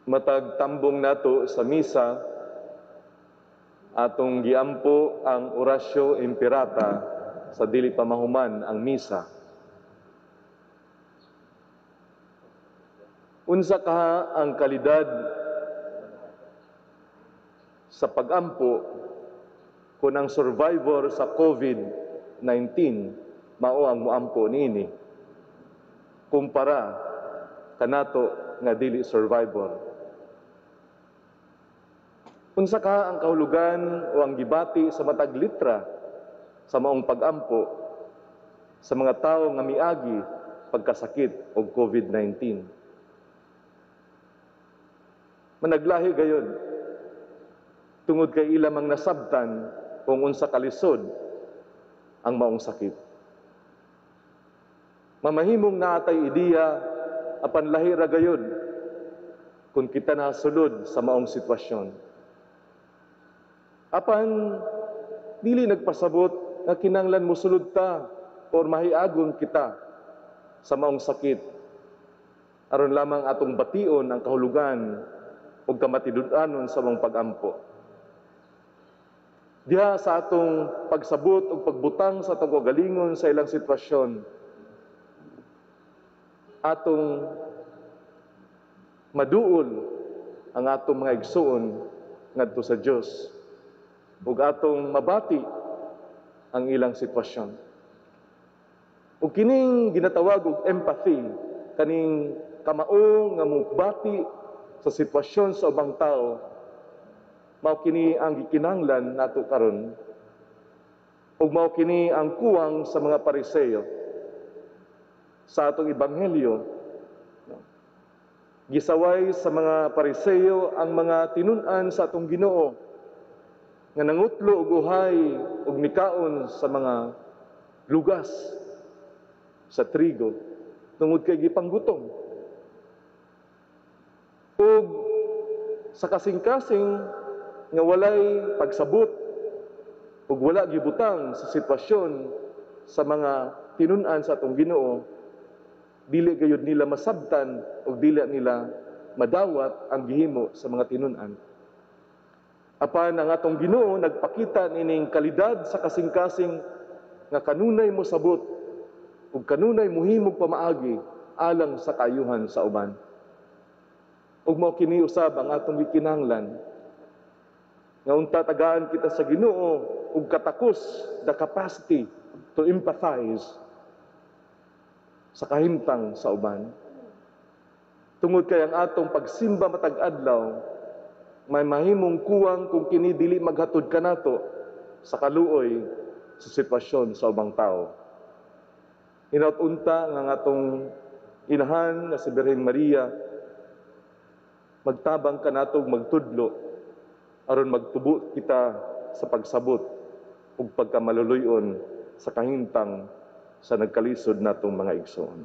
Matag tambong nato sa misa, atong giampo ang Oratio Imperata sa dili pa mahuman ang misa. Unsa kaha ang kalidad sa pagampo kung ang survivor sa COVID-19 mao ang moampo niini kumpara kanato nga dili survivor? Unsa ka ang kahulugan o ang gibati sa matag litra sa maong pagampo sa mga tawo nga miagi pagkasakit og COVID-19? Managlahi gayod tungod kay ila mang nasabtan kung unsa kalisod ang maong sakit. Mamahimong naatay ideya, apan lahi ra gayod kung kita nasulod sa maong sitwasyon. Apan dili nagpasabot nga kinanglan mosulod ta or mahiagon kita sa maong sakit aron lamang atong bation ang kahulugan ug kamatinud-anon sa maong pagampo. Diha sa atong pagsabot ug pagbutang sa atong kaugalingon sa ilang sitwasyon, atong maduol ang atong mga igsuon ngadto sa Dios ug atong mabati ang ilang sitwasyon. Ug kining ginatawag og empathy, kaning kamao nga mobati sa sitwasyon sa ubang tao, mao kini ang gikinahanglan nato karon. Ug mao kini ang kuwang sa mga Pariseo. Sa atong ebanghelyo, gisaway sa mga Pariseo ang mga tinun-an sa atong Ginoo nga nangutlo og uhay ug mikaon sa mga lugas sa trigo tungod kay gipanggutom. Ug sa kasing-kasing nga walay pagsabot ug wala gibutang sa sitwasyon sa mga tinun-an sa atong Ginoo, dili gayud nila masabtan ug dili nila madawat ang gihimo sa mga tinun-an. Apan ang atong Ginoo nagpakita nining kalidad sa kasing-kasing nga kanunay mosabot ug kanunay mohimog pamaagi alang sa kaayuhan sa uban. Ug mao kini usab ang atong gikinahanglan, nga unta tagaan kita sa Ginoo og katakos, the capacity to empathize sa kahimtang sa uban. Tungod kay ang atong pagsimba matag adlaw may mahimong kuwang kung kini dili maghatod kanato sa kaluoy sa sitwasyon sa ubang tao. Hinaut unta nga ang atong inahan nga si Birhen Maria magtabang kanato magtudlo aron magtubo kita sa pagsabot ug pagkamaluluy-on sa kahimtang sa nagkalisod natong mga igsoon.